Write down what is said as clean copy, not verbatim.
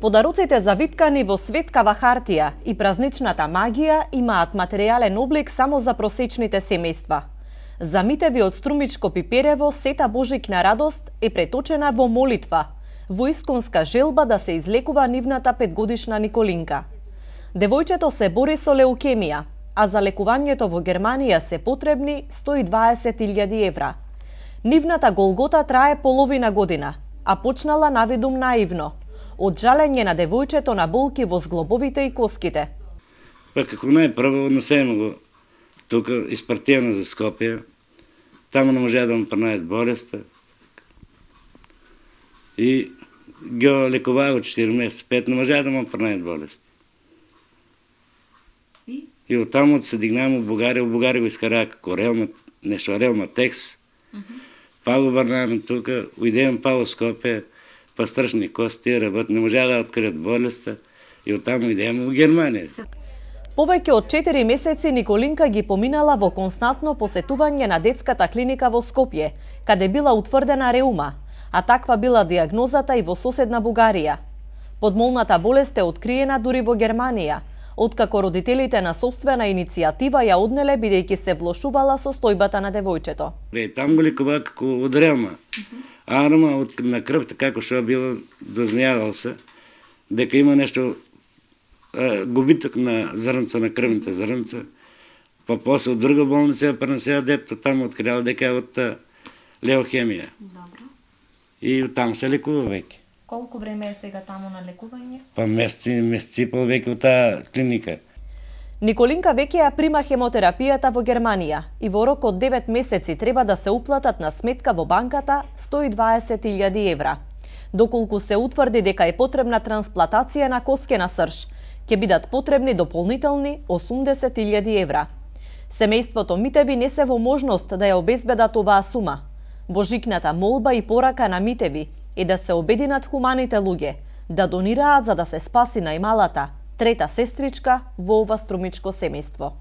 Подароците завиткани во светкава хартија и празничната магија имаат материјален облик само за просечните семејства. За Митеви од Струмичко Пиперево сета божикна радост е преточена во молитва, во исконска желба да се излекува нивната 5-годишна Николинка. Девојчето се бори со леукемија, а за лекувањето во Германија се потребни 120.000 евра. Нивната голгота трае половина година, а почнала навидум наивно, од жалење на девојчето на болки во зглобовите и коските. Па како најпрво однесемо го тука испартијано за Скопје, таму не можеа да му пронајат болеста и го лекуваа од 4 месеци, 5 не можеа да му пронајат болест. И од таму се дигнаа во Бугарија го искараа како Релматекс, па го врнаваме тука, уидеме па во Скопје, па страшни кости, работ, не можеа да откријат болеста и од таму идеме во Германија. Повеќе од 4 месеци Николинка ги поминала во константно посетување на детската клиника во Скопје, каде била утврдена реума, а таква била диагнозата и во соседна Бугарија. Подмолната болест е откриена дури во Германија, откако родителите на собствена иницијатива ја однеле бидејќи се влошувала состојбата на девојчето. Там го лекуваа како од ревма. Арма на крвта како што било дознавал се дека има нешто губиток на зрнца, на крвните зрнца, па после од друга болница ја пренесеа детето, таму открила дека е од леухемија. Добро. И таму се лекува веќе. Колку време е сега таму на лекување? Па месеци и пол веќе од таа клиника. Николинка веќе ја прима хемотерапијата во Германија и во рок од 9 месеци треба да се уплатат на сметка во банката 120.000 евра. Доколку се утврди дека е потребна трансплантација на коскена срж, ќе бидат потребни дополнителни 80.000 евра. Семејството Митеви не се во можност да ја обезбедат оваа сума. Божикната молба и порака на Митеви е да се обединат хуманите луѓе, да донираат за да се спаси најмалата, трета сестричка во ова струмичко семејство.